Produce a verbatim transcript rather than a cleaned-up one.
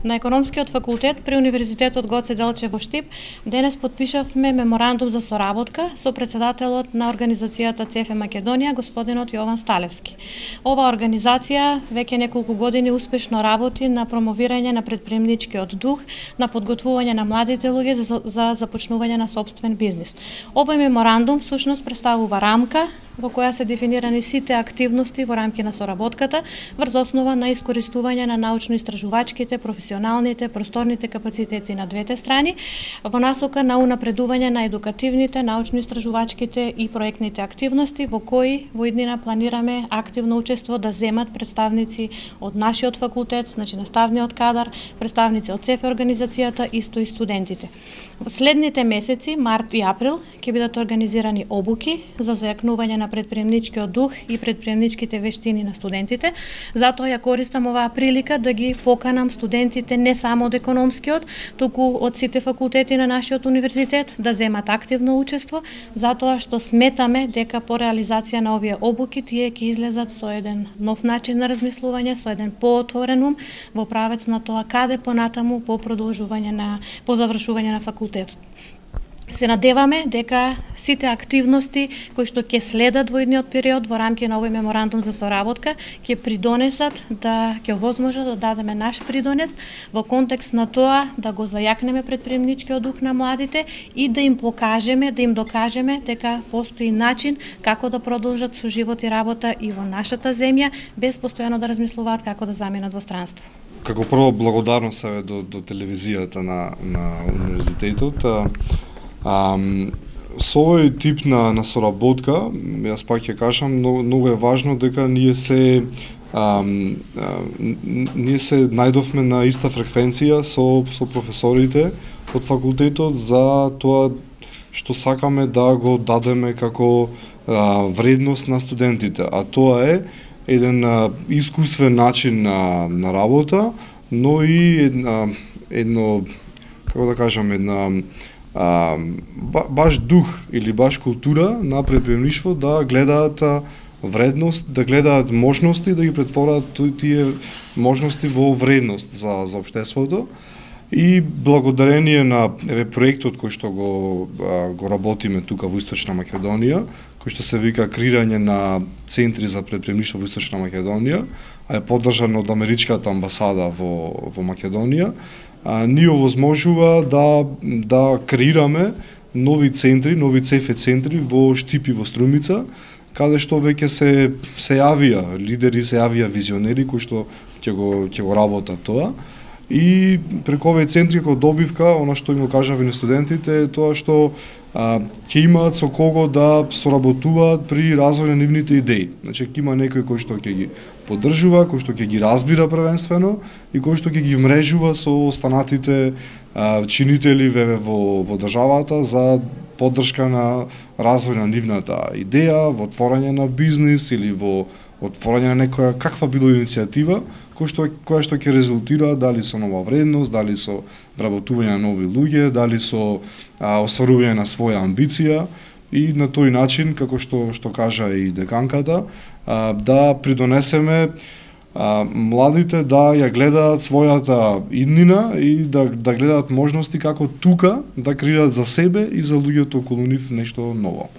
На Економскиот факултет при Универзитетот Гоце Делчев во Штип денес потпишавме меморандум за соработка со председателот на организацијата ЦЕФ Македонија, господинот Јован Сталевски. Ова организација веќе неколку години успешно работи на промовирање на претприемничкиот дух, на подготвување на младите луѓе за, за започнување на сопствен бизнис. Овој меморандум всушност представува рамка во која се дефинирани сите активности во рамки на соработката врз основа на искористување на научно-истражувачките, професионалните, просторните капацитети на двете страни во насока на унапредување на едукативните, научно-истражувачките и проектните активности во кои во иднина планираме активно учество да земат представници од нашиот факултет, значи наставниот кадар, представници од ЦЕФ организацијата, исто и студентите. Во следните месеци, март и април, ќе бидат организирани обуки за зајакнување на претприемничкиот дух и претприемничките вештини на студентите. Затоа ја користам оваа прилика да ги поканам студентите не само од економскиот, туку од сите факултети на нашиот универзитет да земат активно учество, затоа што сметаме дека по реализација на овие обуки тие ќе излезат со еден нов начин на размислување, со еден поотворен ум во правец на тоа каде понатаму по продолжување на по завршување на факултетот. Се надеваме дека сите активности кои што ќе следат во идниот период во рамки на овој меморандум за соработка ќе придонесат да ќе овозможат да дадеме наш придонес во контекст на тоа да го зајакнеме претприемничкиот дух на младите и да им покажеме, да им докажеме дека постои начин како да продолжат со живот и работа и во нашата земја без постојано да размислуваат како да заминат во странство. Како прво благодарност е до, до телевизијата на, на универзитетот. А, со овој тип на, на соработка, јас пак ќе кажам, многу, многу е важно дека ние се а, а, ние се најдовме на иста фреквенција со, со професорите од факултетот за тоа што сакаме да го дадеме како а, вредност на студентите, а тоа е еден а, искусствен начин на, на работа, но и една, едно, како да кажам, една А, ба, баш дух или баш култура на претприемништво да гледаат а, вредност, да гледаат можности, да ги претворат тие можности во вредност за, за општеството. И благодарение на еве проектот кој што го а, го работиме тука во Источна Македонија, кој што се вика креирање на центри за претприемништво во Источна Македонија, а е поддржан од Америчката амбасада во во Македонија, а, ни овозможува да да креираме нови центри, нови ЦЕФ центри во Штип и во Струмица, каде што веќе се се јавија лидери, се јавија визионери кои што ќе го ќе го работат тоа. И преку овие центри како добивка, она што им го кажав и на студентите е тоа што а, ќе имаат со кого да соработуваат при развој на нивните идеи. Значи ќе има некој кој што ќе ги поддржува, кој што ќе ги разбира првенствено и кој што ќе ги вмрежува со останатите а, чинители во во државата за поддршка на развој на нивната идеја, во отворање на бизнис или во отворање на некоја каква било иницијатива која што која што ќе резултира дали со нова вредност, дали со вработување на нови луѓе, дали со а, остварување на своја амбиција и на тој начин, како што што кажа и деканката, а, да придонесеме а, младите да ја гледаат својата иднина и да да гледаат можности како тука да креираат за себе и за луѓето околу нив нешто ново.